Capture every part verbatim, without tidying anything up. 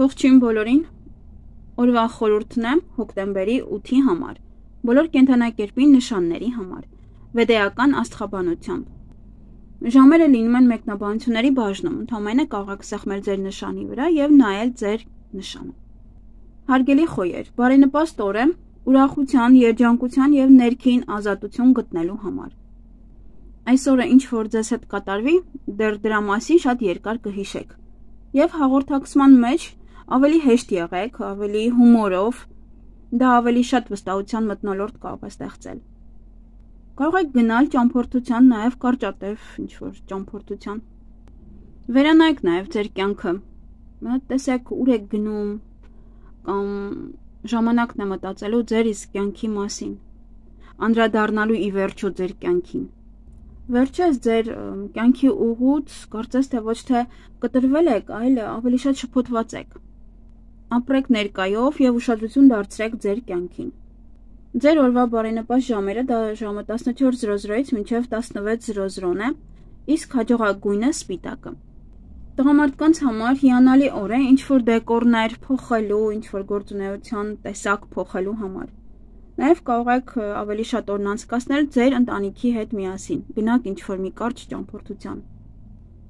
Ողջույն բոլորին, օրվա խորհուրդն եմ հոկտեմբերի ութի համար, բոլոր կենդանակերպի նշանների համար, վեդեական աստղաբանությամբ։ Ժամերը լինում են մեկնաբանությունների բաժնում, ընդամենը կարող եք սեղմել ձեր նշանի վրա և նայել ձեր նշանը։ Հարգելի խոյեր, բարենպաստ օր է ուրախության, երջանկության և ներքին ազատություն գտնելու համար։ Այս օրը ինչ որ ձեզ հետ կատարվի, դեռ դրա մասին շատ երկար կհիշեք։ Եվ հաղորդակցման մեջ ավելի հեշտ եղեք, ավելի հումորով, դա ավելի շատ վստահության մթնոլորտ կարող է ստեղծել։ Կարող եք գնալ ճամփորդության, նաև կարճատև ինչ-որ ճամփորդության։ Վերանայեք նաև ձեր կյանքը, տեսեք ուր եք գնում, կամ ժամանակն է մտածելու ձեր իսկ կյանքի մասին, անդրադառնալու ի վերջո ձեր կյանքին։ Վերջես ձեր կյանքի ուղուց կարծես թե ոչ թե կտրվել եք, այլ ավելի շատ շփոթված եք։ Ապրեք ներկայով և ուշադրություն դարձրեք ձեր կյանքին։ Ձեր օրվա բարենպաստ ժամերը դա ժամը տասնչորս զրո զրոից մինչև տասնվեց զրո զրոն է, իսկ հաջողագույնը սպիտակը։ Տղամարդկանց համար հիանալի օր է ինչ-որ դեկորներ փոխելու, ինչ-որ գործունեության տեսակ փոխելու համար։ Նաև կարող եք ավելի շատ օրն անցկացնել ձեր ընտանիքի հետ միասին, գնաք ինչ-որ մի կարճ ճամփորդության։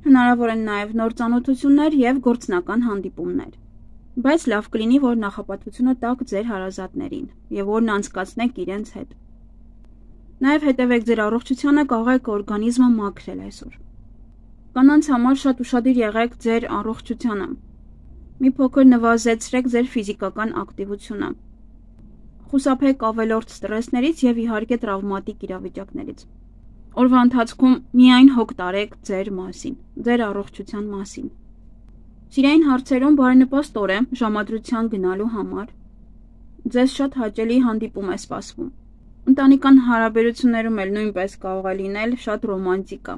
Հնարավոր են նաև նոր ծանոթություններ և գործնական հանդիպումներ։ Բայց լավ կլինի, որ նախապատվությունը տաք ձեր հարազատներին և օրն անցկացնեք իրենց հետ։ Նաև հետևեք ձեր առողջությանը, կարող եք օրգանիզմը մաքրել այսօր։ Կանանց համար շատ ուշադիր եղեք ձեր առողջությանը։ Մի փոքր նվազեցրեք ձեր ֆիզիկական ակտիվությունը։ Խուսափեք ավելորդ ստրեսներից և իհարկե տրավմատիկ իրավիճակներից։ Օրվա ընթացքում միայն հոգ տարեք ձեր մասին, ձեր առողջության մասին։ Սիրային հարցերում բարենպաստ օր է ժամադրության գնալու համար։ Ձեզ շատ հաճելի հանդիպում է սպասվում։ Ընտանեկան հարաբերություններում էլ նույնպես կարող է լինել շատ ռոմանտիկա։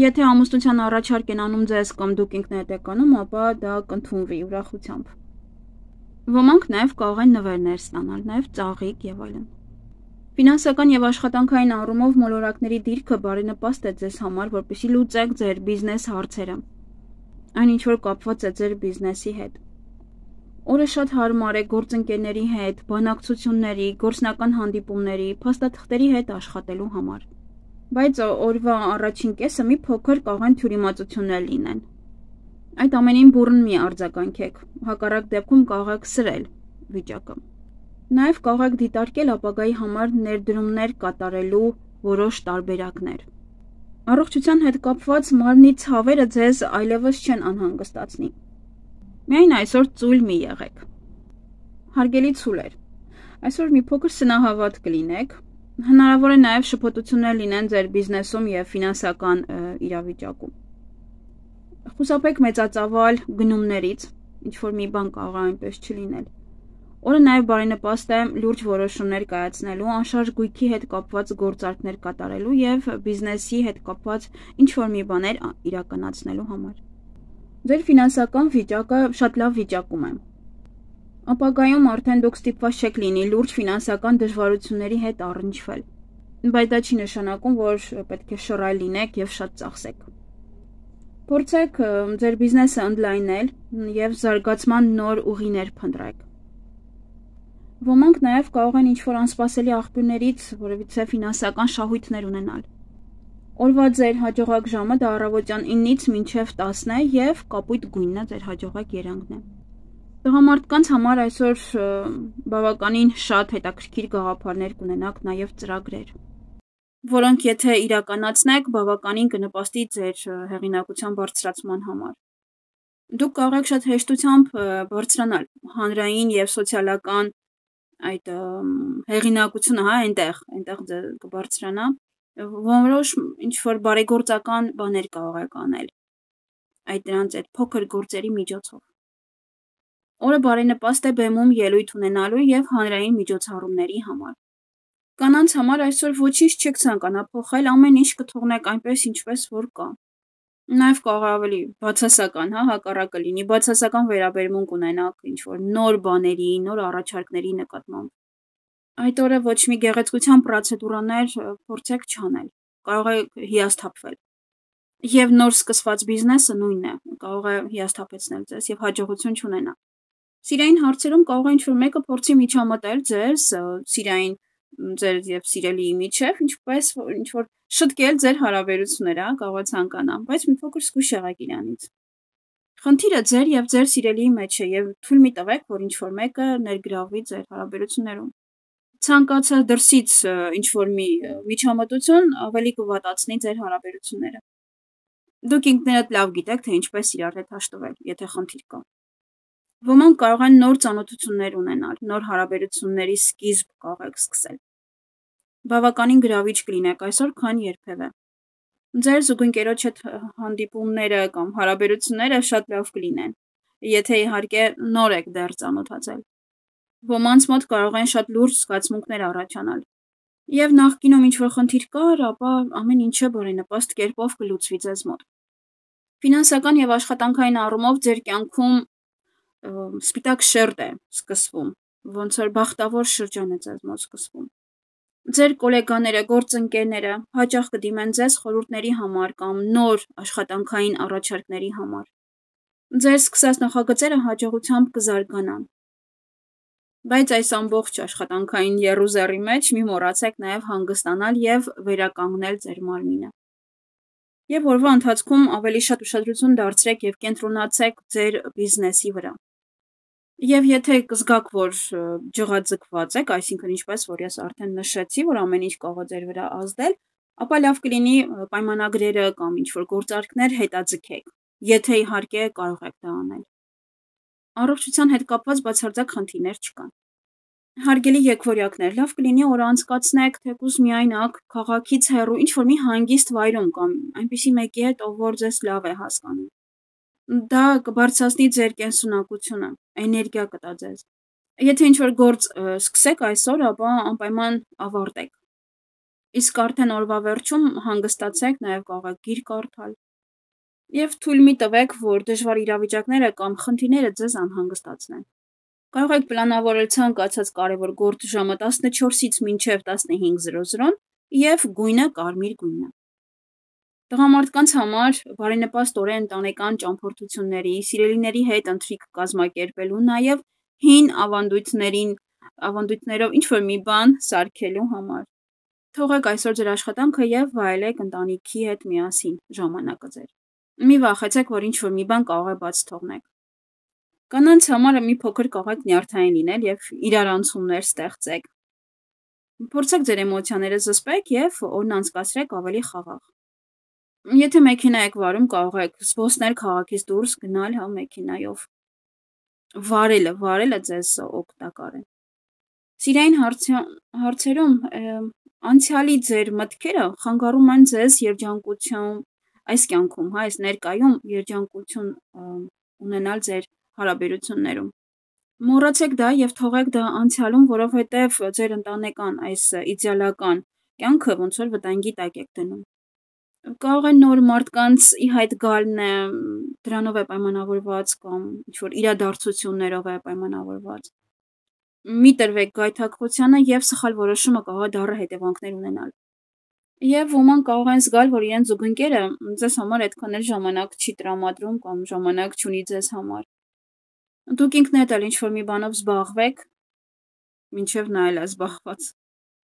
Եթե ամուսնության առաջարկ են անում ձեզ կամ դուք ինքներդ եք անում, ապա դա կընդունվի ուրախությամբ։ Ոմանք նաև կարող են նվերներ ստանալ, նաև ծաղիկ և այլն։ Ֆինանսական և աշխատանքային առումով մոլորակների դիրքը բարենպաստ է ձեզ համար, որպեսզի լուծեք ձեր բիզնես հարցերը։ Այն ինչ որ կապված է ձեր բիզնեսի հետ։ Օրը շատ հարմար է գործընկերների հետ, բանակցությունների, գործնական հանդիպումների, փաստաթղթերի հետ աշխատելու համար։ Բայց օրվա առաջին կեսը մի փոքր կարող են թյուրիմացություններ լինեն։ Այդ ամենին բուռն մի արձագանքեք, հակառակ դեպքում կարող եք սրել վիճակը։ Նաև կարող եք դիտարկել ապագայի համար ներդրումներ կատարելու որոշ տարբերակներ։ Առողջության հետ կապված մարմնի ցավերը ձեզ այլևս չեն անհանգստացնի։ Միայն այսօր ծույլ մի եղեք։ Հարգելի ցուլեր, այսօր մի փոքր սնահավատ կլինեք, հնարավոր է նաև շփոթություններ լինեն ձեր բիզնեսում և ֆինանսական իրավիճակում։ Խուսափեք մեծածավալ գնումներից, ինչ-որ մի բան կարող է այնպես չլինել։ Օրը նաև բարենպաստ է լուրջ որոշումներ կայացնելու, անշարժ գույքի հետ կապված գործարքներ կատարելու և բիզնեսի հետ կապված ինչ-որ մի բաներ իրականացնելու համար։ Ձեր ֆինանսական վիճակը շատ լավ վիճակում է։ Ապագայում արդեն դուք ստիպված չեք լինի լուրջ ֆինանսական դժվարությունների հետ առնչվել, բայց դա չի նշանակում, որ պետք է շռայլ լինեք և շատ ծախսեք։ Փորձեք ձեր բիզնեսը ընդլայնել և զարգացման նոր ուղիներ փնտրեք։ Ոմանք նաև կարող են ինչ-որ անսպասելի աղբյուրներից որևիցե ֆինանսական շահույթներ ունենալ։ Օրվա ձեր հաջողակ ժամը դա առավոտյան ինից մինչև տասն է և կապույտ գույնն է ձեր հաջողակ երանգն է։ Տղամարդկանց համար այսօր բավականին շատ հետաքրքիր գաղափարներ կունենաք, նաև ծրագրեր, որոնք եթե իրականացնեք, բավականին կնպաստի ձեր հեղինակության բարձրացման համար։ Դուք կարող եք շատ հեշտությամբ բարձրանալ հանրային և սոցիալական այդ հեղինակությունը, հա, այնտեղ, այնտեղ կբարձրանա, որոշ ինչ-որ բարեգործական բաներ կարող եք անել այդ դրանց այդ փոքր գործերի միջոցով։ Օրը բարենպաստ է բեմում ելույթ ունենալու և հանրային միջոցառումների համար։ Կանանց համար այսօր ոչինչ չեք ցանկանա փոխել, ամեն ինչ կթողնեք այնպես, ինչպես որ կա։ Նաև կարող է ավելի բացասական, հա, հակառակը լինի, բացասական վերաբերմունք ունենաք ինչ-որ նոր բաների, նոր առաջարկների նկատմամբ։ Այդ օրը ոչ մի գեղեցկության պրոցեդուրաներ փորձեք չանել, կարող է հիասթափվել։ Եվ նոր սկսված բիզնեսը նույնն է, կարող է հիասթափեցնել ձեզ եւ հաջողություն չունենալ։ Սիրային հարցերում կարող է ինչ-որ մեկը փորձի միջամտել ձեզ սիրային ձեր եւ սիրելիի միջեւ, ինչպես ինչ-որ շտկել ձեր հարաբերությունները, կարող է ցանկանա, բայց մի փոքր զգույշ եղեք իրանից։ Խնդիրը ձեր եւ ձեր սիրելիի մեջ է եւ թույլ մի տվեք, որ ինչ-որ մեկը ներգրավվի ձեր հարաբերություններում։ Ցանկացած դրսից ինչ-որ մի միջամտություն ավելի կվատացնի ձեր հարաբերությունները։ Դուք ինքներդ լավ գիտեք, թե ինչպես իրար հետ հաշտվել, եթե խնդիր կա։ Ոմանք կարող են նոր ծանոթություններ ունենալ, նոր հարաբերությունների սկիզբ կարող եք սկսել։ Բավականին գրավիչ կլինեք այսօր, քան երբևէ։ Ձեր զուգընկերոջ հետ հանդիպումները կամ հարաբերությունները շատ լավ կլինեն, եթե իհարկե նոր եք դեռ ծանոթացել։ Ոմանց մոտ կարող են շատ լուրջ զգացմունքներ առաջանալ։ Եվ նախկինում ինչ-որ խնդիր կար, ապա ամեն ինչը բարենպաստ կերպով կլուծվի ձեզ մոտ։ Ֆինանսական եւ աշխատանքային առումով ձեր կյանքում սպիտակ շերտ է սկսվում, ոնց որ բախտավոր շրջան է ձեզ մոտ սկսվում։ Ձեր գոլեգաները, գործընկերները հաճախ կդիմեն ձեզ խորհուրդների համար կամ նոր աշխատանքային առաջարկների համար։ Ձեր սկսած նախագծերը հաջողությամբ կզարգանան։ Բայց այս ամբողջ աշխատանքային եռուզեռի մեջ մի մոռացեք նաև հանգստանալ եւ վերականգնել ձեր մարմինը։ Եվ օրվա ընթացքում ավելի շատ ուշադրություն դարձրեք եւ կենտրոնացեք ձեր բիզնեսի վրա։ Եվ եթե կզգաք, որ ջղաձգված եք, այսինքն ինչպես որ ես արդեն նշեցի, որ ամեն ինչ կարող է ձեր վրա ազդել, ապա լավ կլինի պայմանագրերը կամ ինչ-որ գործարքներ հետաձգեք, եթե իհարկե կարող եք դա անել։ Առողջության հետ կապված բացարձակ խնդիրներ չկան։ Հարգելի եկվորյակներ, լավ կլինի օրը անցկացնեք թեկուզ միայնակ, քաղաքից հեռու, ինչ-որ մի հանգիստ վայրում կամ այնպիսի մեկի հետ, ով որ ձեզ լավ է հասկանում։ Դա կբարձրացնի ձեր կենսունակությունը, էներգիա կտա ձեզ։ Եթե ինչ-որ գործ սկսեք այսօր, ապա անպայման ավարտեք։ Իսկ արդեն օրվա վերջում հանգստացեք, նաև կարող եք գիր կարդալ։ Եվ թույլ մի տվեք, որ դժվար իրավիճակները կամ խնդիրները ձեզ անհանգստացնեն։ Կարող եք պլանավորել ցանկացած կարևոր գործ ժամը տասնչորսից մինչև տասնհինգ զրո զրոն եւ գույնը կարմիր գույնը։ Տղամարդկանց համար բարենպաստ օրեն ընտանեկան ճամփորդությունների, սիրելիների հետ ընթրիք կազմակերպելու, նաև հին ավանդույթներին, ավանդույթներով ինչ-որ մի բան սարքելու համար։ Թողեք այսօր ձեր աշխատանքը եւ վայելեք ընտանիքի հետ միասին ժամանակը ձեր։ Մի վախեցեք, որ ինչ-որ մի բան կարող է բաց թողնեք։ Կանանց համար մի փոքր կարող եք նյարդային լինել եւ իրարանցումներ ստեղծեք։ Փորձեք ձեր էմոցիաները զսպեք եւ օրն անցկացրեք ավելի խաղաղ։ Եթե մեքենա եք վարում, կարող եք զբոսնել քաղաքից դուրս, գնալ հա մեքենայով։ Վարելը, վարելը ձեզ օգտակար է։ Սիրային հարցերում անցյալի ձեր մտքերը խանգարում են ձեզ երջանկություն այս կյանքում, հա, այս ներկայում երջանկություն ունենալ ձեր հարաբերություններում։ Մոռացեք դա եւ թողեք դա անցյալում, որովհետեւ ձեր ընտանեկան այս իդեալական կյանքը ոնց որ վտանգի տակ եք դնում։ Կարող է նոր մարդկանց ի հայտ գալն է, դրանով է պայմանավորված կամ ինչ-որ իրադարձություններով է պայմանավորված։ Մի տրվեք գայթակղությանը եւ սխալ որոշումը կարող է դառը հետևանքներ ունենալ։ Եվ ոմանք կարող են զգալ, որ իրենց զուգընկերը ձեզ համար այդքան էլ ժամանակ չի տրամադրում կամ ժամանակ չունի ձեզ համար։ Դուք ինքներդ էլ ինչ-որ մի բանով զբաղվեք, մինչև նա էլ է զբաղված։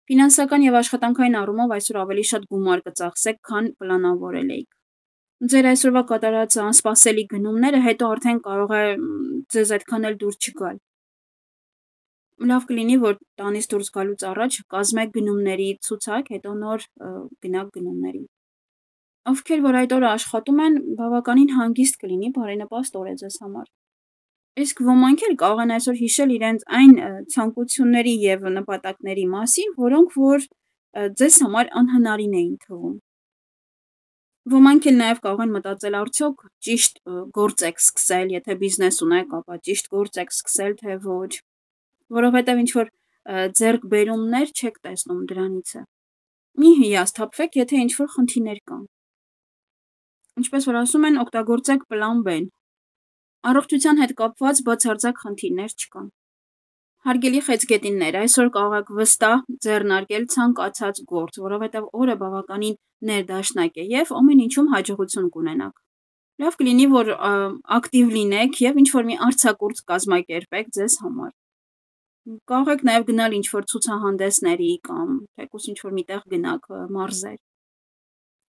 Ֆինանսական եւ աշխատանքային առումով այսօր ավելի շատ գումար կծախսեք, քան պլանավորել էիք։ Ձեր այսօրվա կատարած անսպասելի գնումները հետո արդեն կարող է ձեզ այդքան էլ դուր չգալ։ Լավ կլինի, որ տանից դուրս գալուց առաջ կազմեք գնումների ցուցակ, հետո նոր գնաք գնումների։ Ովքեր որ այդ օրը աշխատում են, բավականին հանգիստ կլինի, բարենպաստ օր է ձեզ համար։ Իսկ ոմանք էլ կարող են այսօր հիշել իրենց այն ցանկությունների եւ նպատակների մասին, որոնք որ ձեզ համար անհնարին էին թվում։ Ոմանք էլ նաեւ կարող են մտածել արդյոք ճիշտ գործ եք սկսել, եթե բիզնես ունեք, ապա ճիշտ գործ եք սկսել, թե ոչ, որովհետեւ ինչ որ ձեռքբերումներ չեք տեսնում դրանից է։ Մի հիասթափվեք, եթե ինչ որ խնդիրներ կան։ Ինչպես որ ասում են, օգտագործեք պլան B-ն։ Առողջության հետ կապված բացարձակ խնդիրներ չկան։ Հարգելի խեցգետիններ, այսօր կարող եք վստահ ձեռնարկել ցանկացած գործ, որովհետև օրը բավականին ներդաշնակ է եւ ամեն ինչում հաջողություն կունենաք։ Լավ կլինի, որ ակտիվ լինեք եւ ինչ-որ մի արձակուրդ կազմակերպեք ձեզ համար։ Կարող եք նաեւ գնալ ինչ-որ ցուցահանդեսների կամ թեկուզ ինչ-որ միտեղ գնաք մարզեր։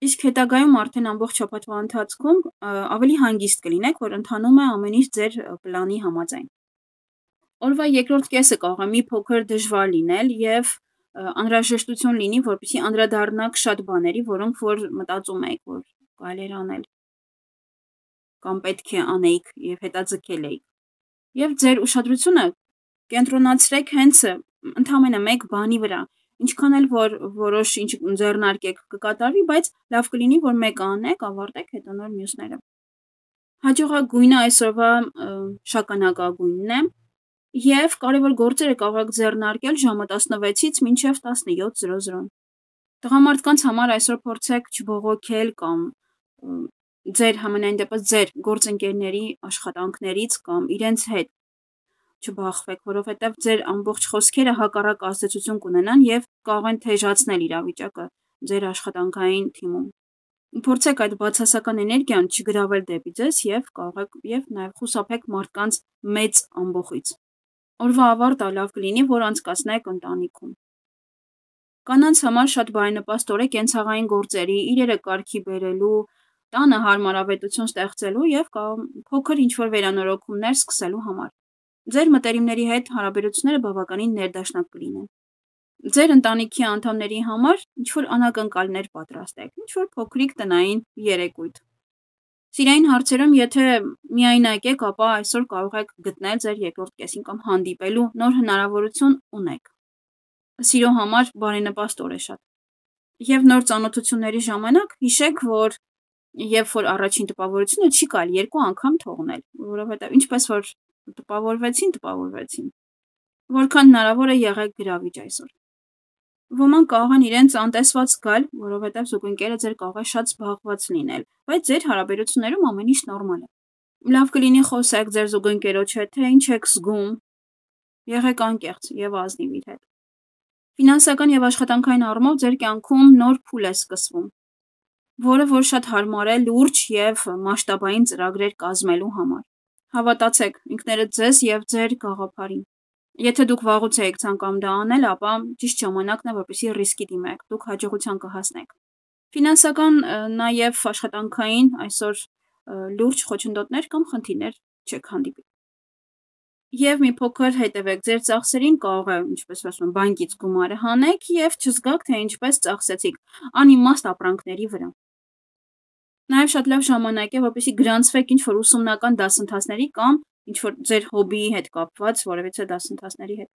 Իսկ հետագայում արդեն ամբողջ շաբաթվա ընթացքում ավելի հանգիստ կլինեք, որ ընթանում է ամեն ինչ ձեր պլանի համաձայն։ Օրվա երկրորդ կեսը կարող է մի փոքր դժվար լինել եւ անհրաժեշտություն լինի, որպեսզի անդրադառնաք շատ բաների, որոնք որ մտածում եք, որ կարելի է անել կամ պետք է անեիք եւ հետաձգել եք։ Եվ ձեր ուշադրությունը կենտրոնացրեք հենց ընդամենը մեկ բանի վրա։ Ինչքան էլ որ որոշ ինչ ձեռնարկեք կկատարվի, բայց լավ կլինի, որ մեկը անեք, ավարտեք, հետո նոր մյուսները։ Հաջողագույնը այսօրվա շագանակագույնն է։ Եվ կարևոր գործերը կարող եք ձեռնարկել ժամը տասնվեցից մինչև տասնյոթ զրո զրո։ Տղամարդկանց համար այսօր փորձեք չբողոքել կամ ձեր համենայն դեպս ձեր գործընկերների աշխատանքներից կամ իրենց հետ չբախվեք, որովհետև ձեր ամբողջ խոսքերը հակառակ ազդեցություն կունենան եւ կարող են թեժացնել իրավիճակը ձեր աշխատանքային թիմում։ Փորձեք այդ բացասական էներգիան չգրավել դեպի ձեզ եւ կարող եք եւ նաեւ խուսափեք մարդկանց մեծ ամբոխից։ Օրվա ավարտը լավ կլինի, որ անցկացնեք ընտանիքում։ Կանանց համար շատ բարենպաստ օր է կենցաղային գործերի, իրերը կարգի բերելու, տանը հարմարավետություն ստեղծելու եւ փոքր ինչ-որ վերանորոգումներ սկսելու համար։ Ձեր մտերիմների հետ հարաբերությունները բավականին ներդաշնակ կլինեն։ Ձեր ընտանիքի անդամների համար ինչ-որ անակնկալներ պատրաստեք, ինչ-որ փոքրիկ տնային երեկույթ։ Սիրային հարցերում, եթե միայնակ եք, ապա այսօր կարող եք գտնել ձեր երկրորդ կեսին կամ հանդիպելու նոր հնարավորություն ունեք։ Սիրո համար բարենպաստ օր է շատ։ Եվ նոր ծանոթությունների ժամանակ հիշեք, որ երբ որ առաջին տպավորությունը չի կարելի երկու անգամ թողնել, որովհետև ինչպես որ տպավորվեցին, տպավորվեցին։ Որքան հնարավոր է եղեք գրավիչ այսօր։ Ոմանք կարող են իրենց անտեսված զգալ, որովհետև զուգընկերը ձեր կարող է շատ զբաղված լինել, բայց ձեր հարաբերություններում ամեն ինչ նորմալ է։ Լավ կլինի խոսեք ձեր զուգընկերոջ հետ, թե ինչ եք զգում։ Եղեք անկեղծ եւ ազնիվ իր հետ։ Ֆինանսական եւ աշխատանքային առումով ձեր կյանքում նոր փուլ է սկսվում, որը որ շատ հարմար է լուրջ եւ մասշտաբային ծրագրեր կազմելու համար։ Հավատացեք ինքներդ ձեզ եւ ձեր գաղափարին։ Եթե դուք վաղուց եք ցանկանում դա անել, ապա ճիշտ ժամանակն է, որպեսզի ռիսկի դիմեք, դուք հաջողության կհասնեք։ Ֆինանսական նաեւ աշխատանքային այսօր լուրջ խոչընդոտներ կամ խնդիրներ չեք հանդիպի։ Եվ մի փոքր հետևեք ձեր ծախսերին, կարող է, ինչպես ասում են, բանկից գումարը հանեք եւ չզգաք, թե ինչպես ծախսեցիք անիմաստ ապրանքների վրա։ Նաեւ շատ լավ ժամանակ է, որպեսզի գրանցվեք ինչ-որ ուսումնական դասընթացների կամ ինչ-որ ձեր հոբիի հետ կապված որևիցե դասընթացների հետ։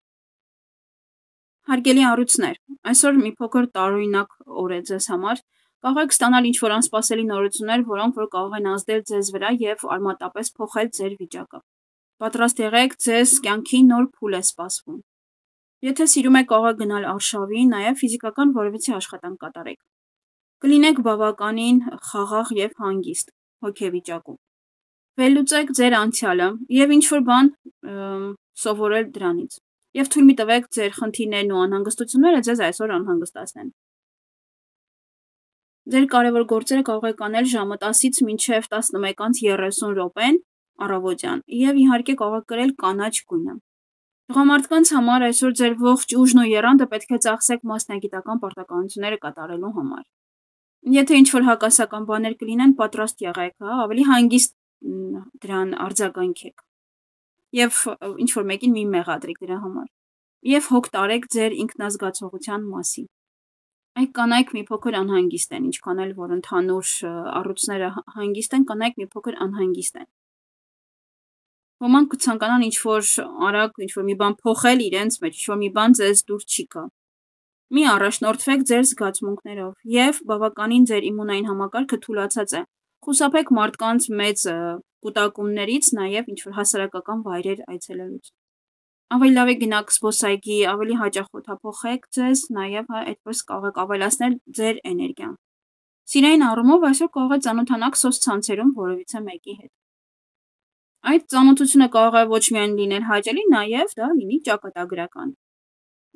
Հարգելի առույցներ, այսօր մի փոքր տարօրինակ օր է ձեզ համար։ Կարող եք ստանալ ինչ-որ անսպասելի նորություններ, որոնք որ կարող են ազդել ձեզ վրա եւ արմատապես փոխել ձեր վիճակը։ Պատրաստ եղեք, ձեզ կյանքի նոր փուլ է սպասվում։ Եթե սիրում եք, կարող եք գնալ արշավի, նաեւ ֆիզիկական որևիցե աշխատանք կատարեք։ Կլինեք բավականին խաղաղ եւ հանգիստ հոգեվիճակում։ Վերլուծեք ձեր անցյալը եւ ինչ-որ բան սովորել դրանից։ Եվ թույլ մի տվեք ձեր խնդիրներն ու անհանգստությունները ձեզ այսօր անհանգստացնեն։ Ձեր կարևոր գործերը կարող եք անել ժամը տասից մինչև տասնմեկ անց երեսուն րոպեն առավոտյան եւ իհարկե կարող եք կրել կանաչ գույնը։ Տղամարդկանց համար այսօր ձեր ողջ ուժն ու եռանդը պետք է ծախսեք մասնագիտական պարտականությունները կատարելու համար։ Եթե ինչ-որ հակասական բաներ կլինեն, պատրաստ եղեք, հա, ավելի հանգիստ դրան արձագանքեք։ Եվ ինչ-որ մեկին մի մեղադրեք դրա համար։ Եվ հոգ տարեք ձեր ինքնազգացողության մասին։ Այդ կանայք մի փոքր անհանգիստ են, ինչքան էլ որ ընդհանուր առույցները հանգիստ են, կանայք մի փոքր անհանգիստ են։ Ոմանք կցանկանան ինչ-որ արագ, ինչ-որ մի բան փոխել իրենց մեջ, ինչ-որ մի բան ձեզ դուր չի գա։ Մի առաջնորդվեք ձեր զգացմունքներով եւ բավականին ձեր իմունային համակարգը թուլացած է։ Խուսափեք մարդկանց մեծ կուտակումներից, նաեւ ինչ-որ հասարակական վայրեր այցելելուց։ Ավելի լավ է գնաք զբոսայգի, ավելի հաճախ օդափոխեք ձեզ, նաեւ այդպես կարող եք ավելացնել ձեր էներգիան։ Սիրային առումով այսօր կարող եք ծանոթանալ սոցցանցերում որևիցե մեկի հետ։ Այդ ծանոթությունը կարող է ոչ միայն լինել հաճելի, նաև դա լինի ճակատագրական։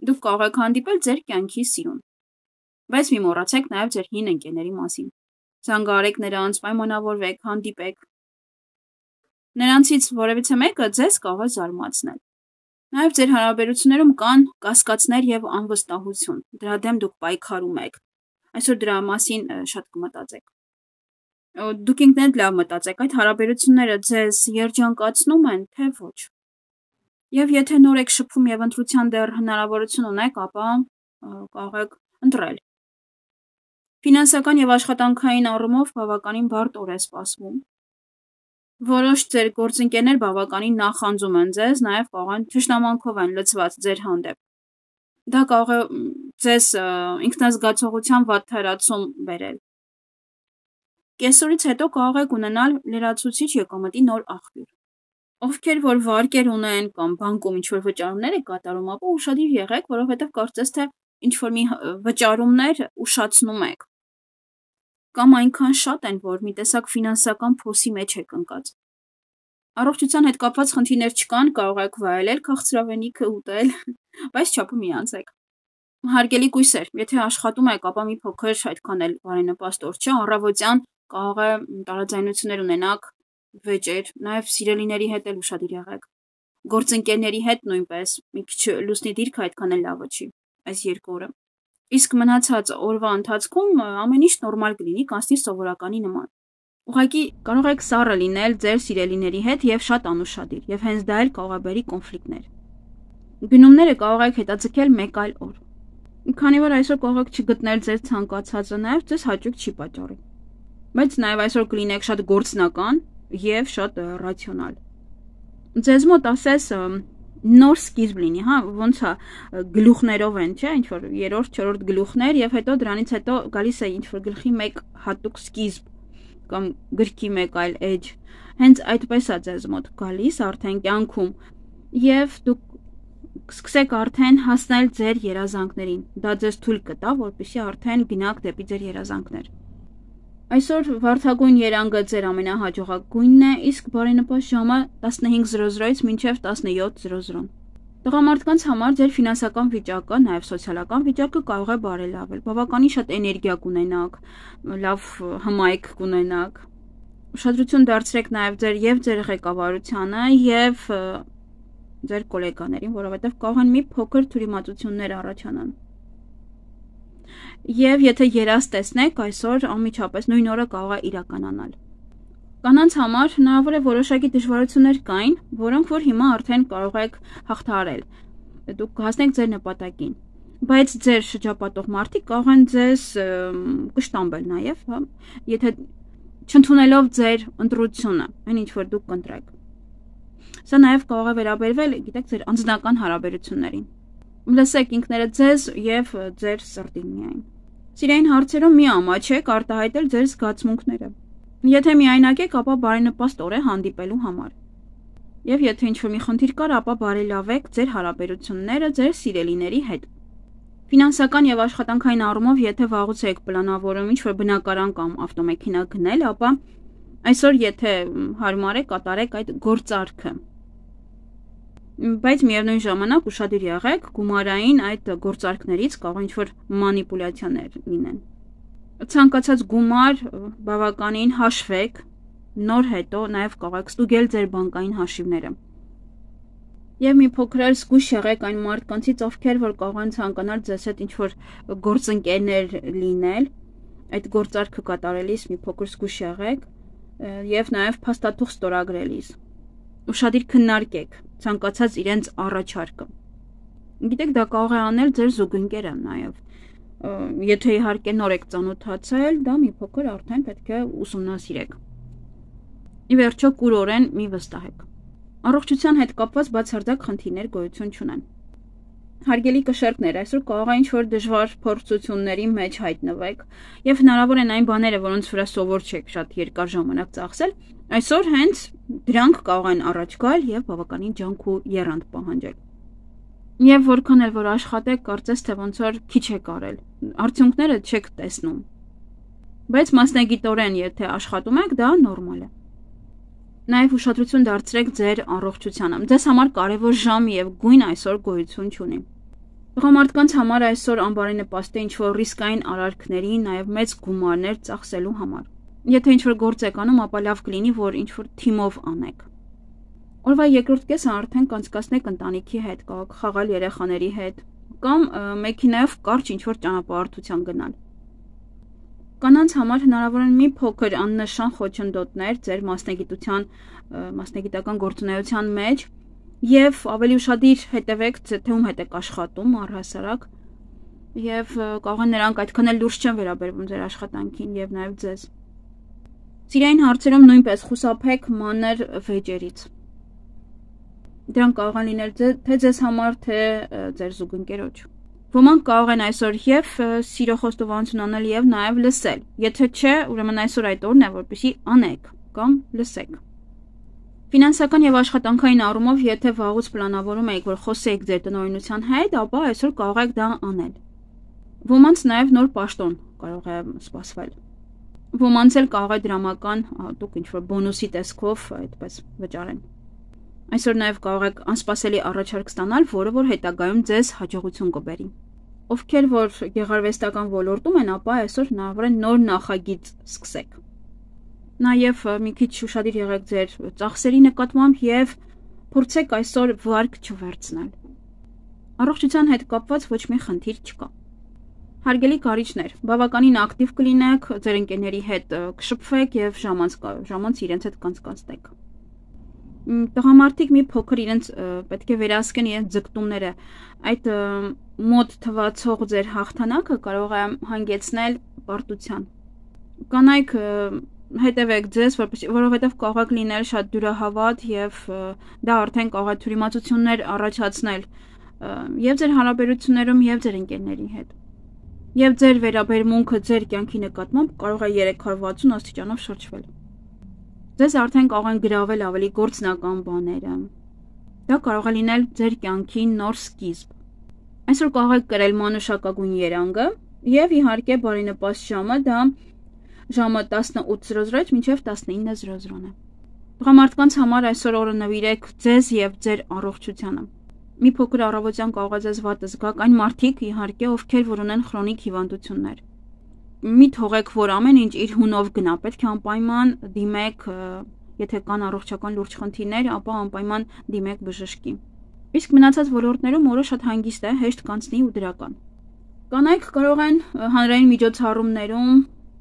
Դուք կարող եք հանդիպել ձեր կյանքի սիրուն։ Բայց մի մոռացեք նաև ձեր հին ընկերների մասին։ Զանգահարեք նրանց, պայմանավորվեք, հանդիպեք։ Նրանցից որևիցե մեկը ձեզ կարող է զարմացնել։ Նաև ձեր հարաբերություններում կան կասկածներ և անվստահություն, դրա դեմ դուք պայքարում եք։ Այսօր դրա մասին շատ կմտածեք։ Դուք ինքներդ լավ մտածեք, այդ հարաբերությունները ձեզ երջանկացնո՞ւմ են, թե ոչ։ Եվ եթե նոր եք շփվում և ընտրության դեռ հնարավորություն ունեք, ապա կարող եք ընտրել։ Ֆինանսական և աշխատանքային առումով բավականին բարդ օր է սպասվում։ Որոշ ձեր գործընկերներ բավականին նախանձում են ձեզ, նաև կարող են թշնամանքով են լցված ձեր հանդեպ։ Դա կարող է ձեզ ինքնազգացողության վատթարացում բերել։ Կեսօրից հետո կարող եք ունենալ լրացուցիչ եկամտի նոր աղբյուր։ Ովքեր որ վարկեր ունեն կամ բանկում ինչ-որ վճարումներ եք կատարում, ապա ուշադիր եղեք, որովհետև կարծես թե ինչ-որ մի վճարումներ ուշացնում եք։ Կամ այնքան շատ են, որ մի տեսակ ֆինանսական փոսի մեջ եք ընկած։ Առողջության հետ կապված խնդիրներ չկան, կարող եք վայելել քաղցրավենիքը, ուտել, բայց չափը մի անցեք։ Հարգելի կույսեր, եթե աշխատում եք, ապա մի փոքր այդքան էլ բարենպաստ օր չէ, առավոտյան կարող է տարաձայնություններ ունենաք, վեճեր, նաև սիրելիների հետ էլ ուշադիր եղեք։ Գործընկերների հետ նույնպես մի քիչ լուսնի դիրքը այդքան էլ լավը չի այս երկու օրը։ Իսկ մնացած օրվա ընթացքում ամեն ինչ նորմալ կլինի, կանցնի սովորականի նման։ Ուղղակի կարող եք սառը լինել ձեր սիրելիների հետ եւ շատ անուշադիր, եւ հենց դա էլ կարող է բերի կոնֆլիկտներ։ Գնումները կարող եք հետաձգել մեկ այլ օր։ Քանի որ այսօր կարող եք չգտնել ձեր ցանկացածը, նաև ձեզ հաճույք չի պատճառի։ Բայց նաև այսօր կլինեք շատ գործնական եւ շատ ռացիոնալ։ Ձեզ մոտ ասես նոր սկիզբ լինի, հա, ոնց է գլուխներով են, չէ, ինչ որ երրորդ, չորրորդ գլուխներ եւ հետո դրանից հետո գալիս է ինչ որ գլխի մեկ հատուկ սկիզբ կամ գրքի մեկ այլ էջ։ Հենց այդպես է ձեզ մոտ գալիս արդեն կյանքում եւ դուք սկսեք արդեն հասնել ձեր երազանքներին։ Դա ձեզ թույլ կտա, որպեսզի արդեն գնաք դեպի ձեր երազանքներ։ Այսօր վարդագույն երանգը ձեր ամենահաջողակույնն է, իսկ բարենպաստ ժամը տասնհինգ զրո զրոից մինչև տասնյոթ զրո զրո։ Տղամարդկանց համար ձեր ֆինանսական վիճակը, նաև սոցիալական վիճակը կարող է բարելավել։ Բավականին շատ էներգիա կունենաք, լավ հմայք կունենաք։ Ուշադրություն դարձրեք նաև ձեր եւ ձեր ղեկավարությանը եւ ձեր գոլեգաներին, որովհետեւ կարող են մի փոքր թյուրիմացություններ առաջանան։ Եվ եթե երազ տեսնեք, այսօր անմիջապես նույն օրը կարող է իրականանալ։ Կանանց համար հնարավոր է որոշակի դժվարություններ կային, որոնք որ հիմա արդեն կարող եք հաղթահարել։ Դուք կհասնեք ձեր նպատակին։ Բայց ձեր շրջապատող մարդիկ կարող են ձեզ կշտամբել նաև, հա, եթե չընդունելով ձեր ընտրությունը, այն ինչ որ դուք կընտրեք։ Սա նաև կարող է վերաբերվել, գիտեք, ձեր անձնական հարաբերություններին։ Լսեք ինքներդ ձեզ եւ ձեր սրտին միայն։ Սիրային հարցերում մի ամաչեք արտահայտել ձեր զգացմունքները։ Եթե միայնակ եք, ապա բարենպաստ օր է հանդիպելու համար։ Եվ եթե ինչ-որ մի խնդիր կար, ապա բարելավեք ձեր հարաբերությունները ձեր սիրելիների հետ։ Ֆինանսական եւ աշխատանքային առումով, եթե վաղուց եք պլանավորում ինչ-որ բնակարան կամ ավտոմեքենա գնել, ապա այսօր եթե հարմար է, կատարեք այդ գործարքը։ Բայց միևնույն ժամանակ ուշադիր եղեք, գումարային այդ գործարքներից կարող ինչ-որ մանիպուլյացիաներ լինեն։ Ցանկացած գումար բավականին հաշվեք, նոր հետո նաև կարող եք ստուգել ձեր բանկային հաշիվները։ Եվ մի փոքր էլ զգույշ եղեք այն մարդկանցից, ովքեր որ կարող են ցանկանալ ձեզ հետ ինչ-որ գործընկերներ լինել, այդ գործարքը կատարելիս մի փոքր զգույշ եղեք եւ նաև փաստաթուղթ ստորագրելիս։ Ուշադիր քննարկեք ցանկացած իրենց առաջարկը։ Գիտեք, դա կարող է անել ձեր զուգընկերը նաև։ Եթե իհարկե նոր եք ծանոթացել, դա մի փոքր արդեն պետք է ուսումնասիրեք։ Ի վերջո կուրորեն մի վստահեք։ Առողջության հետ կապված բացարձակ խնդիրներ գոյություն չունեն։ Հարգելի կշերտներ, այսօր կարող է ինչ-որ դժվար փորձությունների մեջ հայտնվեք եւ հնարավոր են այն բաները, որոնց վրա սովոր չեք շատ երկար ժամանակ ծախսել, այսօր հենց դրանք կարող են առաջ գալ եւ բավականին ջանք ու եռանդ պահանջել։ Եվ որքան էլ որ աշխատեք, կարծես թե ոնց որ քիչ եք արել, արդյունքները չեք տեսնում։ Բայց մասնագիտորեն եթե աշխատում եք, դա նորմալ է։ Նաև ուշադրություն դարձրեք ձեր առողջությանը։ Ձեզ համար կարևոր ժամ եւ գույն այսօր գոյություն չունի։ Տղամարդկանց համար այսօր անբարենպաստ է ինչ-որ ռիսկային արարքների, նաև մեծ գումարներ ծախսելու համար։ Եթե ինչ-որ գործ եք անում, ապա լավ կլինի, որ ինչ-որ թիմով անեք։ Օրվա երկրորդ կեսը արդեն կանցկացնեք ընտանիքի հետ, կարող խաղալ երեխաների հետ, կամ մեքենայով կարճ ինչ-որ ճանապարհորդության գնալ։ Կանանց համար հնարավոր են մի փոքր աննշան խոչընդոտներ ձեր մասնագիտության, մասնագիտական գործունեության մեջ եւ ավելի ուշադիր հետևեք, թե ում հետ եք աշխատում առհասարակ, եւ կարող են նրանք այդքան էլ լուրջ չեն վերաբերվում ձեր աշխատանքին եւ նաեւ ձեզ։ Սիրային հարցերում նույնպես խուսափեք մանր վեճերից։ Դրանք կարող են լինել թե ձեզ համար, թե ձեր զուգընկերոջ։ Ոմանք կարող են այսօր եւ սիրո խոստովանություն անել եւ նաեւ լսել։ Եթե չէ, ուրեմն այսօր այդ օրն է, որպեսզի անեք կամ լսեք։ Ֆինանսական եւ աշխատանքային առումով, եթե վաղուց պլանավորում եք, որ խոսեիք ձեր տնօրինության հետ, ապա այսօր կարող եք դա անել։ Ոմանց նաեւ նոր պաշտոն կարող է սպասվել։ Ոմանց էլ կարող է դրամական, դուք ինչ-որ բոնուսի տեսքով այդպես վճարեն։ Այսօր նաև կարող եք անսպասելի առաջարկ ստանալ, որը որ հետագայում ձեզ հաջողություն կբերի։ Ովքեր որ գեղարվեստական ոլորտում են, ապա այսօր հնարավոր է նոր նախագիծ սկսեք։ Նաև մի քիչ ուշադիր եղեք ձեր ծախսերի նկատմամբ եւ փորձեք այսօր վարկ չվերցնել։ Առողջության հետ կապված ոչ մի խնդիր չկա։ Հարգելի կարիճներ, բավականին ակտիվ կլինեք, ձեր ընկերների հետ կշփվեք եւ ժամանց ժամանց իրենց հետ կանցկացնեք։ Տղամարդիկ մի փոքր իրենց պետք է վերահսկեն իրենց ձգտումները, այդ մոտ թվացող ձեր հաղթանակը կարող է հանգեցնել պարտության։ Կանայք հետևեք ձեզ, որովհետև կարող եք լինել շատ դյուրահավատ եւ դա արդեն կարող է թյուրիմացություններ առաջացնել եւ ձեր հարաբերություններում եւ ձեր ընկերների հետ։ Եվ ձեր վերաբերմունքը ձեր կյանքի նկատմամբ կարող է երեք հարյուր վաթսուն աստիճանով շրջվել։ Ձեզ արդեն կարող են գրավել ավելի գործնական բաները։ Դա կարող է լինել ձեր կյանքի նոր սկիզբ։ Այսօր կարող եք կրել մանուշակագույն երանգը եւ իհարկե բարենպաստ ժամը դա ժամը տասնութ զրո զրոից մինչև տասնինը զրո զրոն է։ Տղամարդկանց համար այսօր օրը նվիրեք ձեզ եւ ձեր առողջությանը։ Մի փոքր առավոտյան կարող է ձեզ վատ զգաք այն մարդիկ իհարկե, ովքեր որ ունեն քրոնիկ հիվանդություններ։ Մի թողեք, որ ամեն ինչ իր հունով գնա, պետք է անպայման դիմեք, եթե կան առողջական լուրջ խնդիրներ, ապա անպայման դիմեք բժշկի։ Իսկ մնացած ոլորտներում օրը շատ հանգիստ է, հեշտ կանցնի ու դրական։ Կանայք կարող են հանրային միջոցառումներում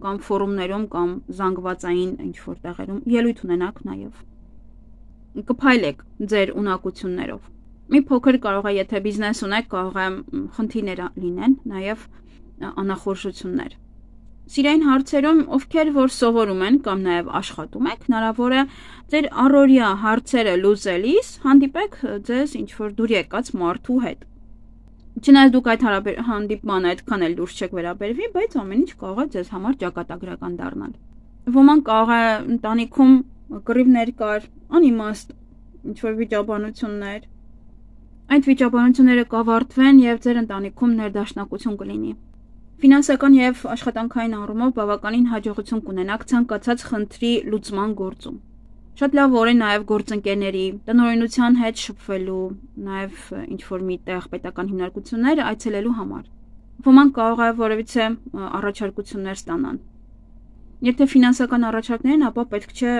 կամ ֆորումներում կամ զանգվածային ինչ-որ տեղերում ելույթ ունենաք նաև։ Կփայլեք ձեր ունակություններով։ Մի փոքր կարող է, եթե բիզնես ունեք, կարող է խնդիրներ լինեն, նաև անախորժություններ։ Սիրային հարցերում, ովքեր որ սովորում են կամ նաև աշխատում եք, հնարավոր է ձեր առօրյա հարցերը լուծելիս հանդիպեք ձեզ ինչ-որ դուր եկած մարդու հետ։ Չնայած դուք այդ հանդիպմանը այդքան էլ լուրջ չեք վերաբերվի, բայց ամեն ինչ կարող է ձեզ համար ճակատագրական դառնալ։ Ոմանք կարող է ընտանիքում կռիվներ կար, անիմաստ ինչ-որ վիճաբանություններ։ Այդ վիճաբանությունները կավարտվեն եւ ձեր ընտանիքում ներդաշնակություն կլինի։ Ֆինանսական եւ աշխատանքային առումով բավականին հաջողություն կունենաք ցանկացած խնդրի լուծման գործում։ Շատ լավ օր է նաեւ գործընկերների, տնօրինության հետ շփվելու, նաեւ ինչ-որ մի տեղ պետական հիմնարկություններ այցելելու համար։ Ոմանք կարող է որևիցե առաջարկություններ ստանան։ Եթե ֆինանսական առաջարկներ են, ապա պետք չէ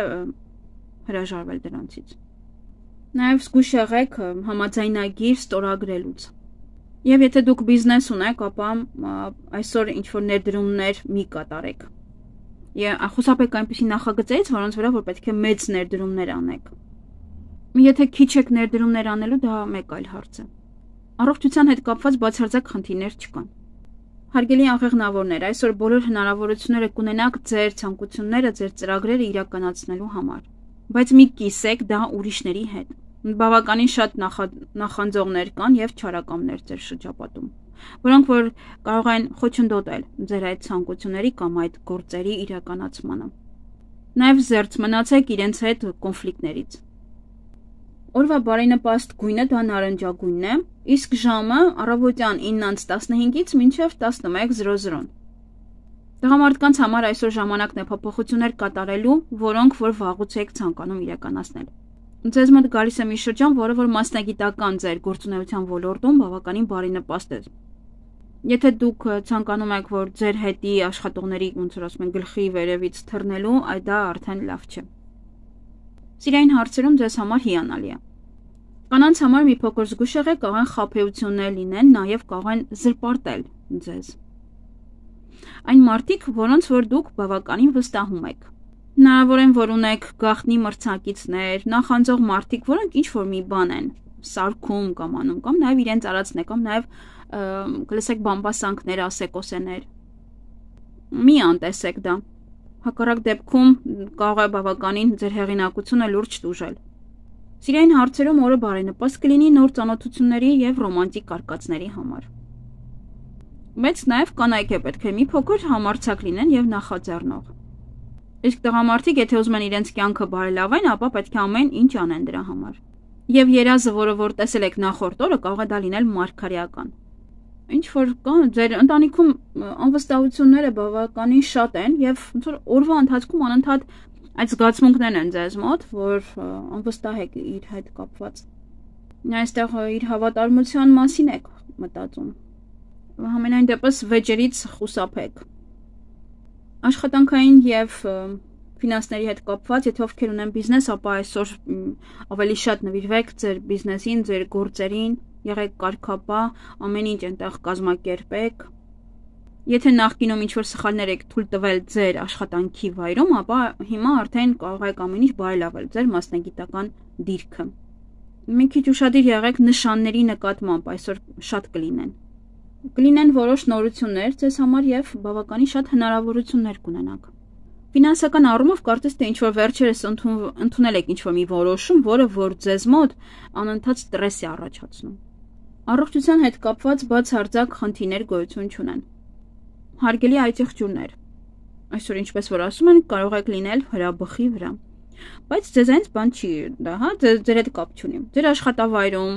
հրաժարվել դրանցից։ Նաև զգույշ եղեք համաձայնագիր ստորագրելուց։ Եվ եթե դուք բիզնես ունեք, ապա այսօր ինչ-որ ներդրումներ մի կատարեք։ Եվ խուսափեք այնպիսի նախագծերից, որոնց վրա որ պետք է մեծ ներդրումներ անեք։ Եթե քիչ եք ներդրումներ անելու, դա մեկ այլ հարց է։ Առողջության հետ կապված բացարձակ խնդիրներ չկան։ Հարգելի աղեղնավորներ, այսօր բոլոր հնարավորությունները կունենաք ձեր ցանկությունները, ձեր ծրագրերը իրականացնելու համար։ Բայց մի կիսեք դա ուրիշների հետ։ Բավականին շատ նախանձողներ կան եւ չարակամներ ձեր շրջապատում, որոնք որ կարող են խոչընդոտել ձեր այդ ցանկությունների կամ այդ գործերի իրականացմանը։ Նաեւ զերծ մնացեք իրենց հետ կոնֆլիկտներից։ Օրվա բարենպաստ գույնը դա նարնջագույնն է, իսկ ժամը առավոտյան իննից տասնհինգից մինչև տասնմեկ զրո զրոն։ Տղամարդկանց համար այսօր ժամանակն է փոփոխություններ կատարելու, որոնք որ վաղուց եք ցանկանում իրականացնել։ Ձեզ մոտ գալիս է մի շրջան, որը որ մասնագիտական ձեր գործունեության ոլորտում բավականին բարենպաստ է։ Եթե դուք ցանկանում եք, որ ձեր հետի աշխատողների, ոնց որ ասում են, գլխի վերևից թռնելու, այդ դա արդեն լավ չէ։ Սիրային հարցերում ձեզ համար հիանալի է։ Կանանց համար մի փոքր զգուշ եղեք, կարող են խաբեություններ լինեն, նաև կարող են զրպարտել ձեզ։ Այն մարդիկ, որոնց որ դուք բավականին վստահում եք։ Հնարավոր է, որ ունեք գաղտնի մրցակիցներ, նախանձող մարդիկ, որոնք ինչ-որ մի բան են սարքում կամ անում, կամ նաև իրենց արածն է, կամ նաև կլսեք բամբասանքներ, ասեկոսեներ։ Մի անտեսեք դա։ Հակառակ դեպքում կարող է բավականին ձեր հեղինակությունը լուրջ տուժել։ Սիրային հարցերում օրը բարենպաստ կլինի նոր ծանոթությունների եւ ռոմանտիկ կարկածների համար։ Բայց նաև կանայք է պետք է մի փոքր համարձակ լինեն եւ նախաձեռնող։ Իսկ տղամարդիկ, եթե ուզում են իրենց կյանքը բարելավեն, ապա պետք է ամեն ինչ անեն դրա համար։ Եվ երազը, որը որ տեսել եք նախորդ օրը, կարող է դա լինել մարգարեական։ Ինչ որ կա, ձեր ընտանիքում անվստահությունները բավականին շատ են եւ ոնց որ օրվա ընթացքում անընդհատ այդ զգացմունքներն են ձեզ մոտ, որ անվստահ եք իր հետ կապված։ Այստեղ իր հավատարմության մասին եք մտածում։ Համենայն դեպս վեճերից խուսափեք։ Աշխատանքային եւ ֆինանսների հետ կապված, եթե ովքեր ունեն բիզնես, ապա այսօր ավելի շատ նվիրվեք ձեր բիզնեսին, ձեր գործերին, եղեք կարգապահ, ամեն ինչ այնտեղ կազմակերպեք։ Եթե նախկինում ինչ-որ սխալներ եք թույլ տվել ձեր աշխատանքի վայրում, ապա հիմա արդեն կարող եք ամեն ինչ բարելավել ձեր մասնագիտական դիրքը։ Մի քիչ ուշադիր եղեք նշանների նկատմամբ, այսօր շատ կլինեն։ Կլինեն որոշ նորություններ ձեզ համար եւ բավականին շատ հնարավորություններ կունենաք։ Ֆինանսական առումով կարծես թե ինչ-որ վերջերս ընդունել եք ինչ-որ մի որոշում, որը որ ձեզ մոտ անընդհատ ստրես է առաջացնում։ Առողջության հետ կապված բացարձակ խնդիրներ գոյություն չունեն։ Հարգելի այցեղջյուրներ, այսօր ինչպես որ ասում են, կարող եք լինել հրաբխի վրա, բայց ձեզանից բան չի դա, հա, ձեր հետ կապ չունի։ Ձեր աշխատավայրում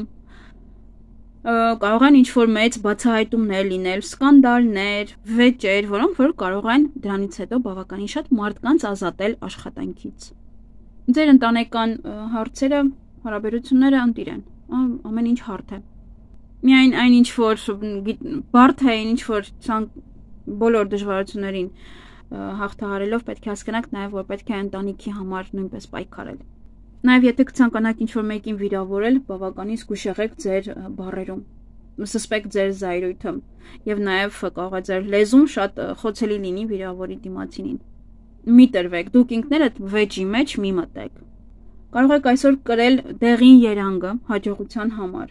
կարող են ինչ-որ մեծ բացահայտումներ լինել, սկանդալներ, վեճեր, որոնք որ կարող են դրանից հետո բավականին շատ մարդկանց ազատել աշխատանքից։ Ձեր ընտանեկան հարցերը, հարաբերությունները ընտիր են, ամեն ինչ հարթ է։ Միայն այն ինչ որ բարդ է, ինչ որ բոլոր դժվարություններին հաղթահարելով պետք է հասկանաք նաև, որ պետք է ընտանիքի համար նույնպես պայքարել։ Նաև եթե կցանկանաք ինչ-որ մեկին վիրավորել, բավականին զգուշ եղեք ձեր բառերում, սսպեք ձեր զայրույթը եւ նաև կարող է ձեր լեզուն շատ խոցելի լինի վիրավորի դիմացինին։ Մի տրվեք, դուք ինքներդ վեճի մեջ մի մտեք։ Կարող եք այսօր կրել դեղին երանգը հաջողության համար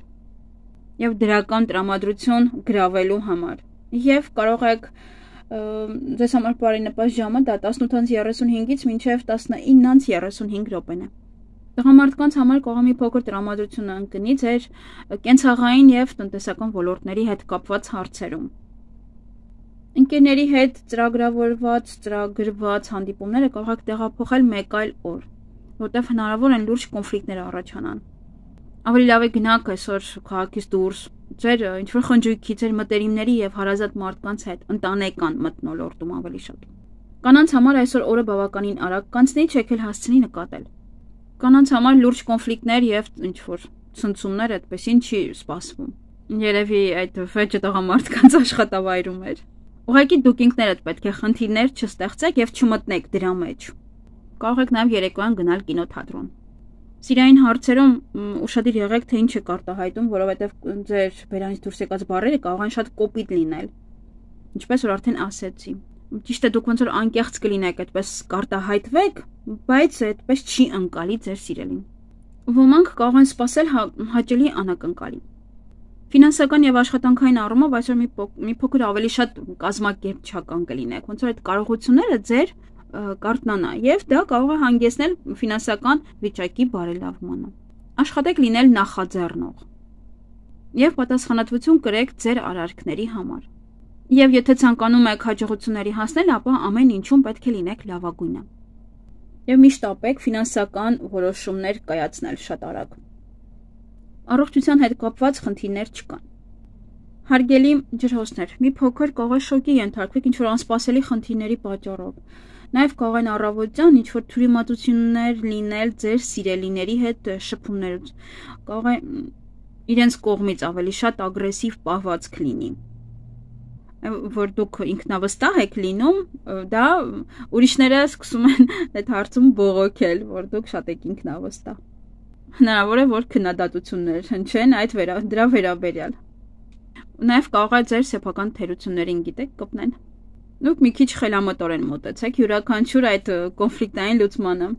եւ դրական տրամադրություն գրավելու համար եւ կարող եք ձեզ համար բարենպաստ ժամը դա տասնութ երեսունհինգից մինչև տասնինը երեսունհինգ րոպեն է։ Տղամարդկանց համար կարող է մի փոքր տրամադրություն ընկնի ձեր կենցաղային եւ տնտեսական ոլորտների հետ կապված հարցերում։ Ընկերների հետ ծրագրավորված, ծրագրված հանդիպումները կարող եք տեղափոխել մեկ այլ օր, որտեղ հնարավոր են լուրջ կոնֆլիկտներ առաջանան։ Ավելի լավ է գնաք այսօր քաղաքից դուրս, ձեր ինչ-որ խնջույքի, ձեր մտերիմների եւ հարազատ մարդկանց հետ ընտանեկան մթնոլորտում ավելի շատ։ Կանանց համար այսօր օրը բավականին արագ կանցնի, չեք էլ հասցնի նկատել։ Կանանց համար լուրջ կոնֆլիկտներ եւ ինչ-որ ցնցումներ այդպեսին չի սպասվում։ Երևի այդ վեճը տղամարդկանց աշխատավայրում էր։ Ուղղակի դուք ինքներդ պետք է խնդիրներ չստեղծեք եւ չմտնեք դրա մեջ։ Կարող եք նաեւ երեկոյան գնալ կինոթատրոն։ Սիրային հարցերում ուշադիր եղեք, թե ինչ եք արտահայտում, որովհետեւ ձեր բերանից դուրս եկած բառերը կարող են շատ կոպիտ լինել։ Ինչպես որ արդեն ասեցի։ Ճիշտ է, դուք ոնց որ անկեղծ կլինեք, այդպես կարտահայտվեք, բայց այդպես չի ընկալի ձեր սիրելին։ Ոմանք կարող են սпасել հաճելի անակնկալի։ Ֆինանսական եւ աշխատանքային առումով այսօր մի մի փոքր ավելի շատ կազմակերպչական կլինեք, ոնց որ այդ կարողությունները ձեր կարտնանա եւ դա կարող է հանգեցնել ֆինանսական վիճակի բարելավմանը։ Աշխատեք լինել նախաձեռնող եւ պատասխանատվություն կրեք ձեր արարքների համար։ Եվ եթե ցանկանում եք հաջողությունների հասնել, ապա ամեն ինչում պետք է լինեք լավագույնը։ Եվ միշտ ապեք ֆինանսական որոշումներ կայացնել շատ արագ։ Առողջության հետ կապված խնդիրներ չկան։ Հարգելի ջրհոսներ, մի փոքր կարող է շոկի ենթարկվեք ինչ-որ անսպասելի խնդիրների պատճառով։ Նաև կարող են առավոտյան ինչ-որ թյուրիմացություններ լինել ձեր սիրելիների հետ շփումներուց։ Կարող է իրենց կողմից ավելի շատ ագրեսիվ պահվածք լինի։ Որ դուք ինքնավստահ եք լինում, դա ուրիշները սկսում են այդ հարցում բողոքել, որ դուք շատ եք ինքնավստահ։ Հնարավոր է, որ քննադատություններ հնչեն այդ վերա, դրա վերաբերյալ։ Նաև կարող է ձեր սեփական թերություններին գիտեք կպնեն։ Դուք մի քիչ խելամտորեն մոտեցեք յուրաքանչյուր այդ կոնֆլիկտային լուծմանը։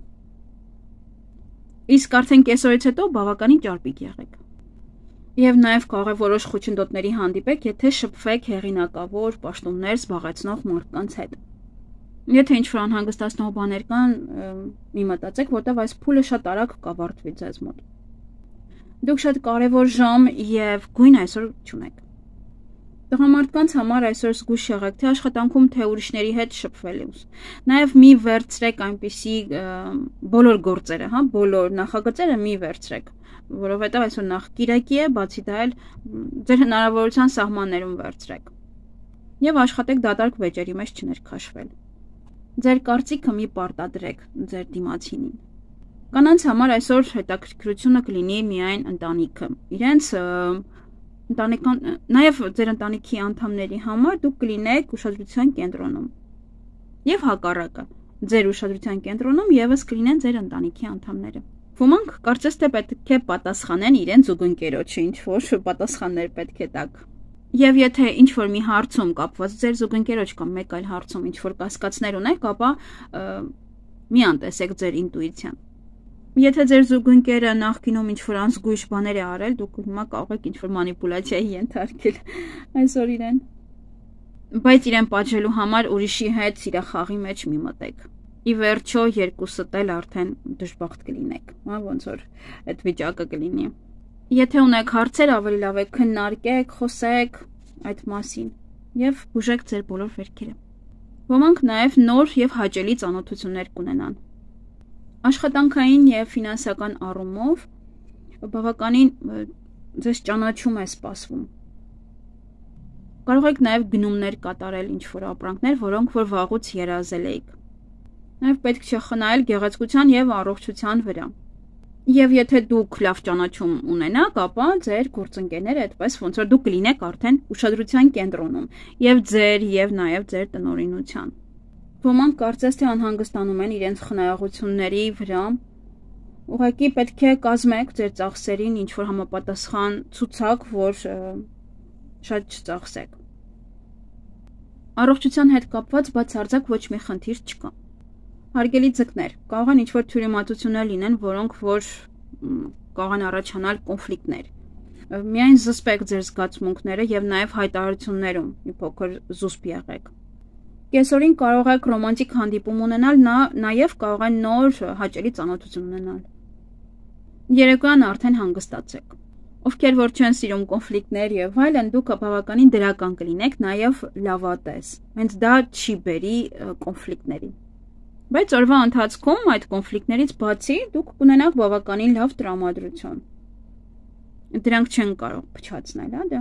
Իսկ արդեն կեսօրից հետո բավականին ճարպիկ եղեք։ Եվ նաև կարող է որոշ խոչընդոտների հանդիպեք, եթե շփվեք հեղինակավոր պաշտոններ զբաղեցնող մարդկանց հետ։ Եթե ինչ-որ անհանգստացնող բաներ կան, մի մտածեք, որտեղ այս փուլը շատ արագ կավարտվի ձեզ մոտ։ Դուք շատ կարևոր ժամ եւ գույն այսօր չունեք։ Տղամարդկանց համար այսօր զգուշ եղեք թե աշխատանքում, թե ուրիշների հետ շփվելուց։ Նաև մի վերցրեք այնպիսի բոլոր գործերը, հա, բոլոր նախագծերը մի վերցրեք, որովհետև այսօր նախ կիրակի է, բացի դա էլ ձեր հնարավորության սահմաններում վերցրեք։ Եվ աշխատեք դատարկ վեճերի մեջ չներքաշվել։ Ձեր կարծիքը մի պարտադրեք ձեր դիմացինին։ Կանանց համար այսօր հետաքրքրությունը կլինի միայն ընտանիքը։ Իրենց ընտանեկան, նաև ձեր ընտանիքի անդամների համար դուք կլինեք ուշադրության կենտրոնում։ Եվ հակառակը, ձեր ուշադրության կենտրոնում ևս կլինեն ձեր ընտանիքի անդամները։ Ոմանք կարծես թե պետք է պատասխանեն իրենց զուգընկերոջը, ինչ որ պատասխաններ պետք է տաք։ Եվ եթե ինչ որ մի հարցում կապված ձեր զուգընկերոջ կամ մեկ այլ հարցում ինչ որ կասկածներ ունեք, ապա մի անտեսեք ձեր ինտուիցիան։ Եթե ձեր զուգընկերը նախկինում ինչ-որ անզգույշ բաներ է արել, դուք հիմա կարող եք ինչ-որ մանիպուլյացիայի ենթարկել այսօր իրեն։ Բայց իրեն պատժելու համար ուրիշի հետ սիրախաղի մեջ մի մտեք։ Ի վերջո երկուսդ էլ արդեն դժբախտ կլինեք, հա, ոնց որ այդ վիճակը կլինի։ Եթե ունեք հարցեր, ավելի լավ է քննարկեք, խոսեք այդ մասին եւ բուժեք ձեր բոլոր վերքերը։ Ոմանք նաեւ նոր եւ հաճելի ծանոթություններ կունենան։ Աշխատանքային եւ ֆինանսական առումով բավականին ձեզ ճանաչում է սպասվում։ Կարող եք նաեւ գնումներ կատարել ինչ-որ ապրանքներ, որոնք որ վաղուց երազել եք։ Նաեւ պետք չէ խնայել գեղեցկության եւ առողջության վրա։ Եվ եթե դուք լավ ճանաչում ունենաք, ապա ձեր գործընկերները այդպես ոնց որ դուք կլինեք արդեն ուշադրության կենտրոնում եւ ձեր եւ նաեւ ձեր տնօրինության։ Ոմանք կարծես թե անհանգստանում են իրենց խնայողությունների վրա։ Ուղղակի պետք է կազմեք ձեր ծախսերին ինչ որ համապատասխան ցուցակ, որ շատ չծախսեք։ Առողջության հետ կապված բացարձակ ոչ մի խնդիր չկա։ Հարգելի ձկներ, կարող են ինչ-որ թյուրիմացություններ լինեն, որոնք որ կարող են առաջանալ կոնֆլիկտներ։ Միայն զսպեք ձեր զգացմունքները եւ նաեւ հայտարարություններում մի փոքր զուսպ եղեք։ Կեսօրին կարող եք ռոմանտիկ հանդիպում ունենալ, նա նաեւ կարող են նոր հաճելի ծանոթություն ունենալ։ Երեկոյան արդեն հանգստացեք։ Ովքեր որ չեն սիրում կոնֆլիկտներ եւ այլն, դուք բավականին դրական կլինեք, նաեւ լավատես։ Հենց դա չի բերի կոնֆլիկտների։ Բայց օրվա ընթացքում այդ կոնֆլիկտներից բացի դուք կունենաք բավականին լավ տրամադրություն։ Դրանք չեն կարող փչացնել, հա դա։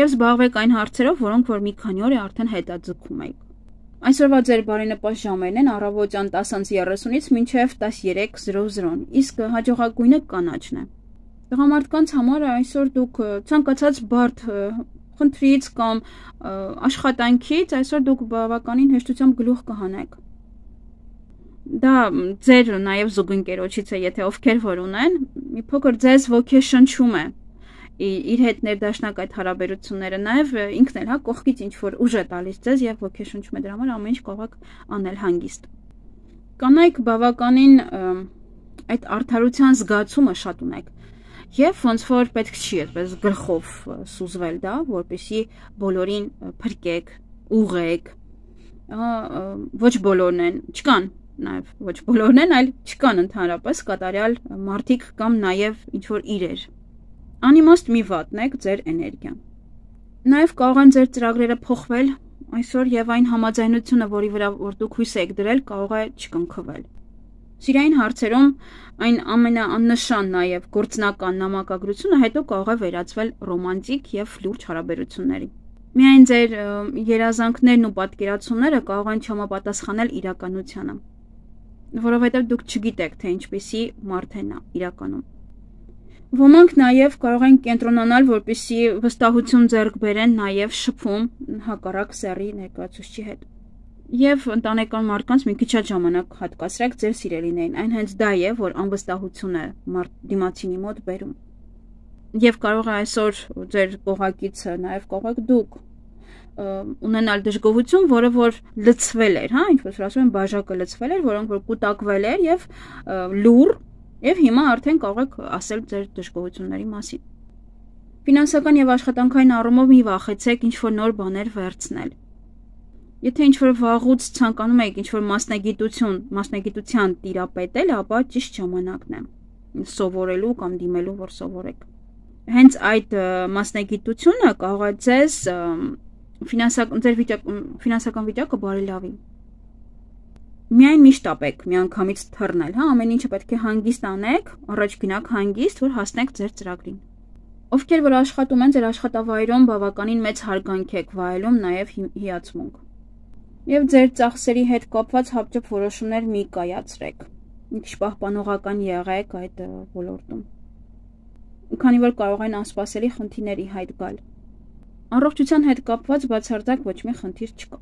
Եվ զբաղվեք այն հարցերով, որոնք որ մի քանի օր է արդեն հետաձգում եք։ Այսօրվա ձեր բարենպաստ ժամերն են առավոտյան տասը երեսունից մինչև տասներեք զրո-զրոն, իսկ հաջողակույնը կանաչն է։ Տղամարդկանց համար այսօր դուք ցանկացած բարդ խնդրից կամ աշխատանքից այսօր դուք բավականին հեշտությամբ գլուխ կհանեք։ Դա ձեր նաև զուգընկերոջից է, եթե ովքեր որ ունեն, մի փոքր ձեզ ոգեշնչում է իր հետ ներդաշնակ այդ հարաբերությունները, նաև ինքն էլ հա կողքից ինչ որ ուժ է տալիս ձեզ եւ ոգեշնչում է, դրա համար ամեն ինչ կարող եք անել հանգիստ։ Կանայք բավականին այդ արդարության զգացումը շատ ունեք եւ ոնց որ պետք չի այդպես գլխով սուզվել դա, որպեսզի բոլորին փրկեք, ուղղեք, ոչ բոլորն են, չկան նաև ոչ բոլորն են, այլ չկան ընդհանրապես կատարյալ մարդիկ կամ նաև ինչ որ իրեր։ Անիմաստ մի վատնեք ձեր էներգիան։ Նաև կարող են ձեր ծրագրերը փոխվել այսօր եւ այն համաձայնությունը, որի վրա որ դուք հույս եք դրել, կարող է չկնքվել։ Սիրային հարցերում այն ամենաաննշան նաև գործնական նամակագրությունը հետո կարող է վերածվել ռոմանտիկ եւ լուրջ հարաբերությունների։ Միայն ձեր երազանքներն ու պատկերացումները կարող են չհամապատասխանել իրականությանը, որովհետեւ դուք չգիտեք, թե ինչպիսի մարդ է նա իրականում։ Ոմանք նաև կարող են կենտրոնանալ, որպեսզի վստահություն ձեռք բերեն նաև շփում հակառակ սեռի ներկայացուցչի հետ։ Եվ ընտանեկան մարդկանց մի քիչ շատ ժամանակ հատկացրեք ձեր սիրելիներին, այն հենց դա է, որ անվստահություն է դիմացինի մոտ բերում։ Եվ կարող է այսօր ձեր կողակիցը, նաև կարող եք դուք ունենալ դժգոհություն, որը որ լցվել էր, հա, ինչպես որ ասում են, բաժակը լցվել էր, որոնք որ կուտակվել էր եւ լուր, եւ հիմա արդեն կարող եք ասել ձեր դժգոհությունների մասին։ Ֆինանսական եւ աշխատանքային առումով մի վախեցեք ինչ-որ նոր բաներ վերցնել։ Եթե ինչ-որ վաղուց ցանկանում եք ինչ-որ մասնագիտություն, մասնագիտության տիրապետել, ապա ճիշտ ժամանակն է սովորելու կամ դիմելու, որ սովորեք։ Հենց այդ մասնագիտությունը կարող է ձեզ ֆինանսական ձեր ֆինանսական վիճակը բարելավի։ Միայն միշտ ապեք միանգամից թռնել, հա, ամեն ինչը պետք է հանգիստ անեք, առաջ գնաք հանգիստ, որ հասնեք ձեր ծրագրին։ Ովքեր որ աշխատում են, ձեր աշխատավայրում բավականին մեծ հարգանք եք վայելում, նաև հիացմունք։ Եվ ձեր ծախսերի հետ կապված հապճեպ որոշումներ մի կայացրեք։ Մի քիչ պահպանողական եղեք այդ ոլորտում։ Քանի որ կարող են անսպասելի խնդիրների հայտ գալ։ Առողջության հետ կապված բացարձակ ոչ մի խնդիր չկա։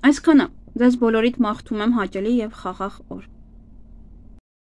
Այսքանը, ձեզ բոլորիդ մաղթում եմ հաճելի եւ խաղաղ օր։